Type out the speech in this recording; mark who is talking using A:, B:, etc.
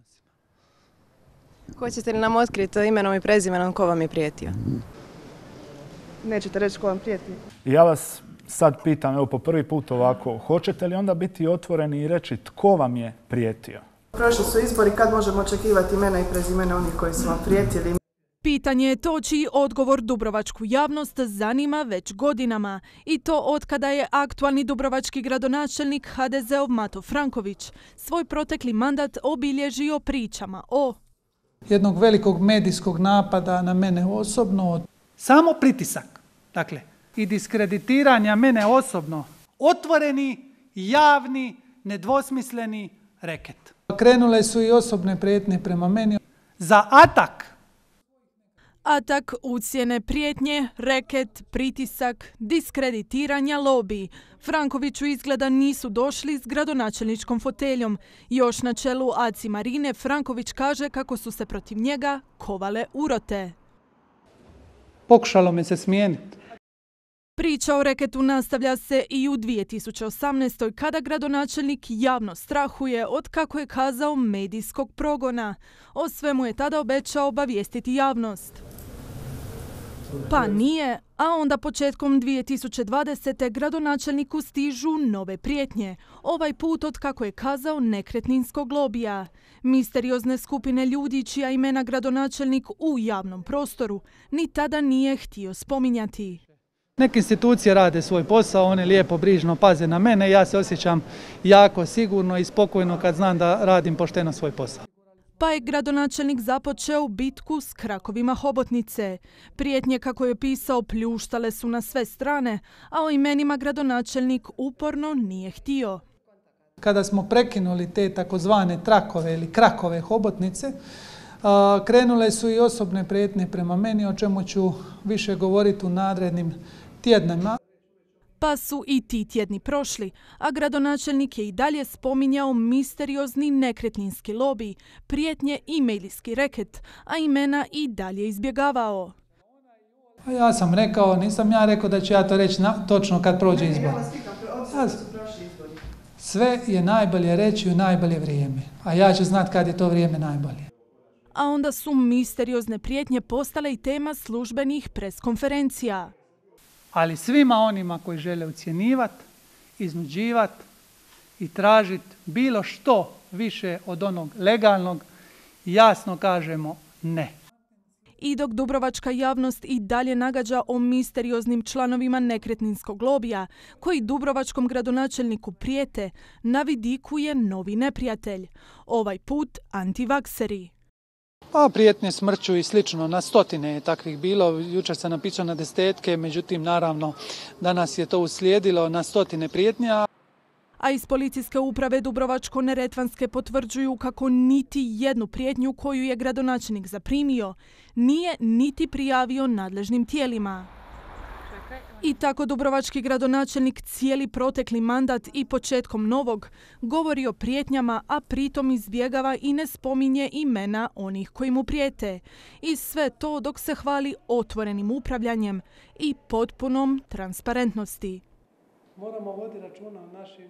A: odnosima.
B: Hoćete li nam otkriti imenom i prezimenom ko vam je prijetio?
C: Nećete reći ko vam prijeti?
A: Ja vas sad pitam, evo po prvi put ovako, hoćete li onda biti otvoreni i reći tko vam je prijetio?
C: Prošli su izbori, kad možemo očekivati imena i prezimena onih koji su vam prijetili?
D: Pitanje je to čiji odgovor dubrovačku javnost zanima već godinama. I to otkada je aktualni dubrovački gradonačelnik HDZ-ov Mato Franković svoj protekli mandat obilježio pričama o
E: jednog velikog medijskog napada na mene osobno.
F: Samo pritisak, dakle, i diskreditiranja mene osobno. Otvoreni, javni, nedvosmisleni reket.
E: Krenule su i osobne prijetnje prema meni.
F: Za atak.
D: Atak, ucjene, prijetnje, reket, pritisak, diskreditiranja, lobiji. Frankoviću izgleda nisu došli s gradonačelničkom foteljom. Još na čelu ACI Marine Franković kaže kako su se protiv njega kovale urote.
F: Pokušalo me se smijeniti.
D: Priča o reketu nastavlja se i u 2018. kada gradonačelnik javno strahuje od, kako je kazao, medijskog progona. O svemu je tada obećao obavijestiti javnost. Pa nije, a onda početkom 2020. gradonačelniku stižu nove prijetnje. Ovaj put od, kako je kazao, nekretninskog lobija. Misteriozne skupine ljudi čija imena gradonačelnik u javnom prostoru ni tada nije htio spominjati.
F: Neke institucije rade svoj posao, one lijepo, brižno paze na mene. Ja se osjećam jako sigurno i spokojno kad znam da radim pošteno svoj posao.
D: Pa je gradonačelnik započeo bitku s krakovima hobotnice. Prijetnje, kako je pisao, pljuštale su na sve strane, a o imenima gradonačelnik uporno nije htio.
E: Kada smo prekinuli te takozvane trakove ili krakove hobotnice, krenule su i osobne prijetnje prema meni, o čemu ću više govoriti u narednim tjednima.
D: Pa su i ti tjedni prošli, a gradonačelnik je i dalje spominjao misteriozni nekretninski lobij, prijetnje i medijski reket, a imena i dalje izbjegavao.
E: A ja sam rekao, nisam ja rekao da ću ja to reći točno kad prođe izbor. Sve je najbolje reći u najbolje vrijeme, a ja ću znati kad je to vrijeme najbolje.
D: A onda su misteriozne prijetnje postale i tema službenih preskonferencija.
F: Ali svima onima koji žele ucjenjivati, iznuđivati i tražiti bilo što više od onog legalnog, jasno kažemo ne.
D: I dok dubrovačka javnost i dalje nagađa o misterioznim članovima nekretninskog lobija, koji dubrovačkom gradonačelniku prijete, na vidiku je novi neprijatelj. Ovaj put antivakseri.
E: Pa prijetnje smrću i slično, na stotine je takvih bilo. Jučer sam napisao na desetke, međutim naravno danas je to uslijedilo na stotine prijetnja.
D: A iz policijske uprave Dubrovačko-neretvanske potvrđuju kako niti jednu prijetnju koju je gradonačelnik zaprimio nije niti prijavio nadležnim tijelima. I tako dubrovački gradonačelnik cijeli protekli mandat i početkom novog govori o prijetnjama, a pritom izbjegava i ne spominje imena onih koji mu prijete. I sve to dok se hvali otvorenim upravljanjem i potpunom transparentnosti.
F: Moramo voditi računa o našim